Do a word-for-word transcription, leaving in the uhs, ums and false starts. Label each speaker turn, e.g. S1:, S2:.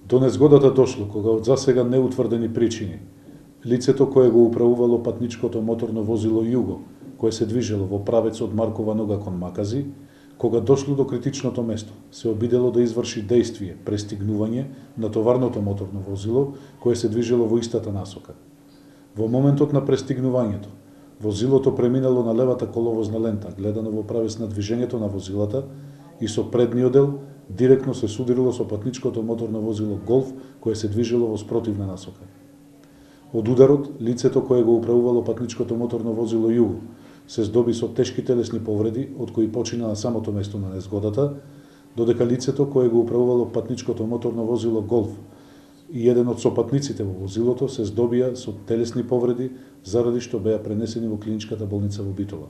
S1: До незгодата дошло кога од засега неутврдени причини лицето кое го управувало патничкото моторно возило Југо, кое се движело во правец од Маркова нога кон Макази, кога дошло до критичното место, се обидело да изврши дејствие престигнување на товарното моторно возило кое се движело во истата насока. Во моментот на престигнувањето, возилото преминало на левата коловозна лента, гледано во правец на движењето на возилата, и со предниот дел директно се судрило со патничкото моторно возило Голф кое се движело во спротивна насока. Од ударот, лицето кое го управувало патничкото моторно возило Југо се здоби со тешки телесни повреди, од кои почина на самото место на незгодата, додека лицето кое го управувало патничкото моторно возило Голф и еден од сопатниците во возилото се здобија со телесни повреди, заради што беа пренесени во клиничката болница во Битола.